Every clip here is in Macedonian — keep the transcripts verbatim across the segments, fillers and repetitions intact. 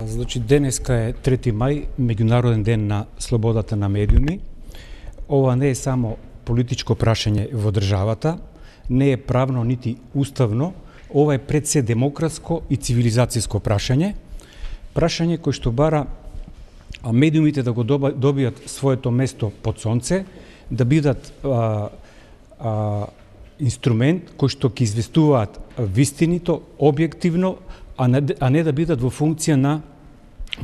Значи, денеска е трети мај, меѓународен ден на слободата на медиуми. Ова не е само политичко прашање во државата, не е правно нити уставно, ова е пред се демократско и цивилизацијско прашање. Прашање кој што бара медиумите да го добијат своето место под сонце, да бидат а, а, инструмент кој што ќе известуваат вистинито, објективно, а не, а не да бидат во функција на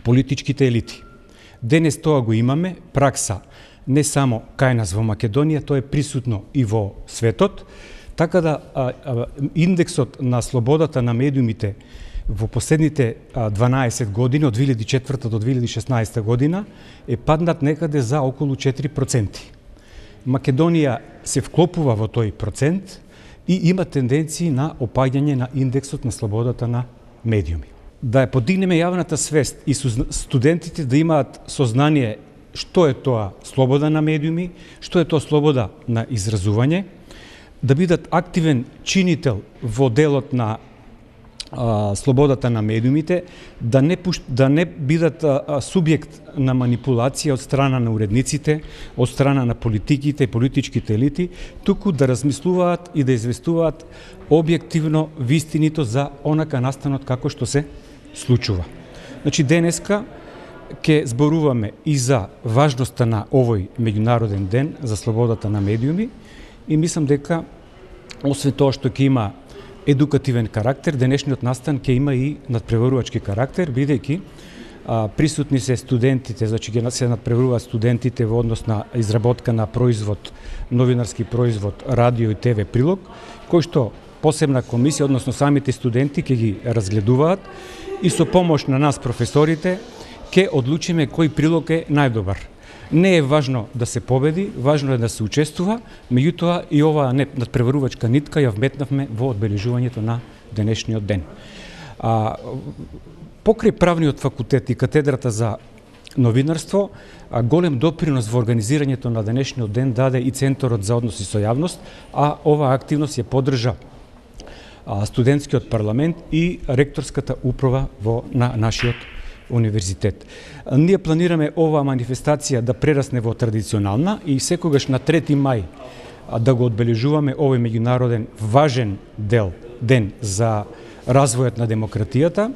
политичките елити. Денес тоа го имаме, пракса не само кај нас во Македонија, тоа е присутно и во светот, така да а, а, индексот на слободата на медиумите во последните дванаесет години, од две илјади и четврта до две илјади и шеснаесета година, е паднат некаде за околу четири проценти. Македонија се вклопува во тој процент и има тенденции на опаѓање на индексот на слободата на медиуми. Да ја подигнеме јавната свест и студентите да имаат сознание што е тоа слобода на медиуми, што е тоа слобода на изразување, да бидат активен чинител во делот на а, слободата на медиумите, да не, пуш... да не бидат а, а, субјект на манипулација од страна на уредниците, од страна на политиките и политичките елити, туку да размислуваат и да известуваат објективно вистинито за онака настанот како што се случува. Значи, денеска ќе зборуваме и за важноста на овој меѓународен ден за слободата на медиуми и мислам дека освен тоа што ќе има едукативен карактер, денешниот настан ќе има и надпреварувачки карактер, бидејќи а, присутни се студентите, значи ќе се надпреваруваат студентите во однос на изработка на производ, новинарски производ, радио и ТВ прилог, кој што посебна комисија, односно самите студенти ќе ги разгледуваат и со помош на нас професорите ќе одлучиме кој прилог е најдобар. Не е важно да се победи, важно е да се учествува, меѓутоа и оваа надпреварувачка нитка ја вметнавме во одбележувањето на денешниот ден. А, покрај правниот факултет и катедрата за новинарство, а, голем допринос во организирањето на денешниот ден даде и Центарот за односи со јавност, а оваа активност ја поддржа а, студентскиот парламент и ректорската управа во на нашиот универзитет. Ние планираме оваа манифестација да прерасне во традиционална и секогаш на трети мај да го одбележуваме овој меѓународен важен дел, ден за развојот на демократијата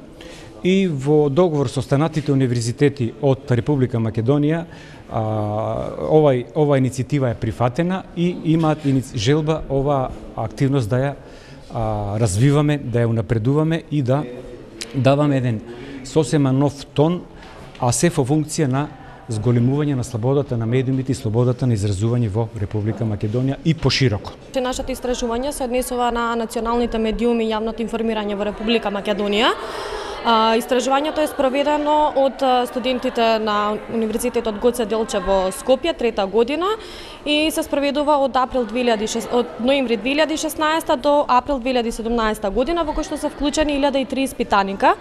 и во договор со останатите универзитети од Република Македонија овај, ова иницијатива е прифатена и имаат желба оваа активност да ја а, развиваме, да ја унапредуваме и да даваме еден сосема нов тон, а се во функција на зголемување на слободата на медиумите и слободата на изразување во Република Македонија и пошироко. Нашето истражување се однесува на националните медиуми и јавното информирање во Република Македонија. Истражувањето е спроведено од студентите на Универзитетот Гоце Делчев во Скопје трета година и се спроведува од април две илјади и шеснаесета, од ноември две илјади и шеснаесета до април две илјади и седумнаесета година, во кој што се вклучени илјада и три испитаника.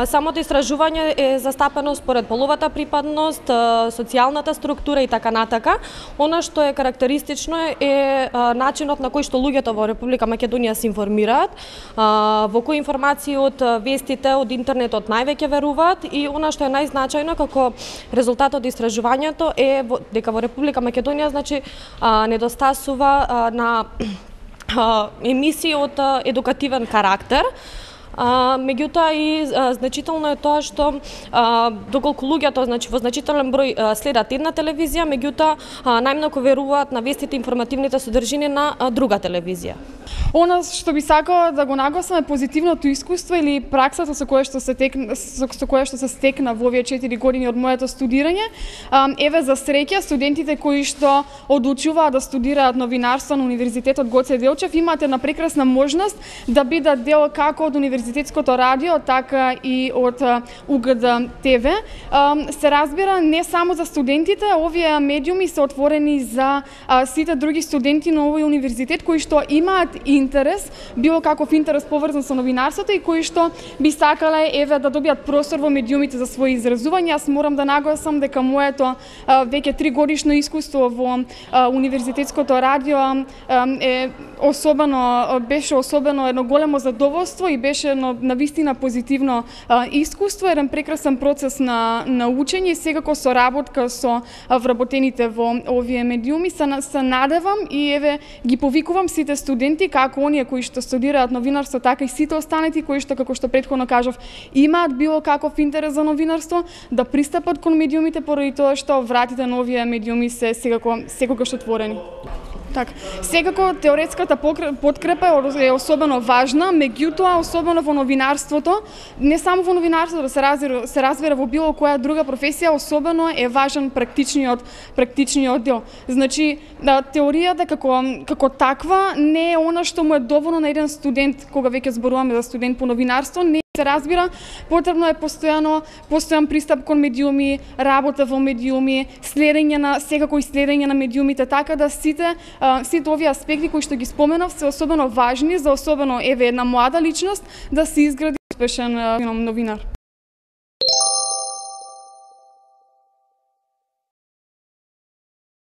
Самото истражување е застапено според половата припадност, социјалната структура и така натака. Она што е карактеристично е начинот на кој што луѓето во Република Македонија се информираат, во кои информации од вестите од интернетот највеќе веруваат и она што е најзначајно како резултат од истражувањето е дека во Република Македонија значи недостасува на емисии од едукативен карактер. А, меѓутоа и а, значително е тоа што а, доколку луѓето значи во значителен број а, следат една телевизија, меѓутоа најмногу веруваат на вестите информативните содржини на а, друга телевизија. Она што би сакала да го нагласам е позитивното искуство или праксата со која што се текна, со, со која што се стекна во овие четири години од моето студирање. А, еве за среќа студентите кои што одлучуваат да студираат новинарство на Универзитетот Гоце Делчев имаат една прекрасна можност да бидат дел како од Универзитетското радио, така и од У Г Д Т В. Се разбира не само за студентите, овие медиуми се отворени за сите други студенти на овој универзитет кои што имаат интерес, било каков интерес поврзан со новинарството и кои што би сакале еве да добијат простор во медиумите за своји изразувања. Јас морам да нагласам дека моето веќе три годишно искуство во универзитетското радио е особено беше особено едно големо задоволство и беше едно навистина позитивно искуство, еден прекрасен процес на на учење и секако со работка со вработените во овие медиуми се, се надевам и еве ги повикувам сите студенти, како оние кои што студираат новинарство, така и сите останати кои што, како што претходно кажав, имаат било каков интерес за новинарство, да пристапат кон медиумите поради тоа што вратите на овие медиуми се секако секогаш отворени. Так, секако теоретската подкрепа е особено важна, меѓутоа особено во новинарството, не само во новинарството, да се разбира, се разбира во било која друга професија, особено е важен практичниот практичниот дел. Значи, да, теоријата како како таква не е она што му е доволно на еден студент, кога веќе зборуваме за студент по новинарство, не се разбира, потребно е постојано постојан пристап кон медиуми, работа во медиуми, следење на секако и следење на медиумите, така да сите сите овие аспекти кои што ги споменав се особено важни за особено еве една млада личност да се изгради успешен новинар.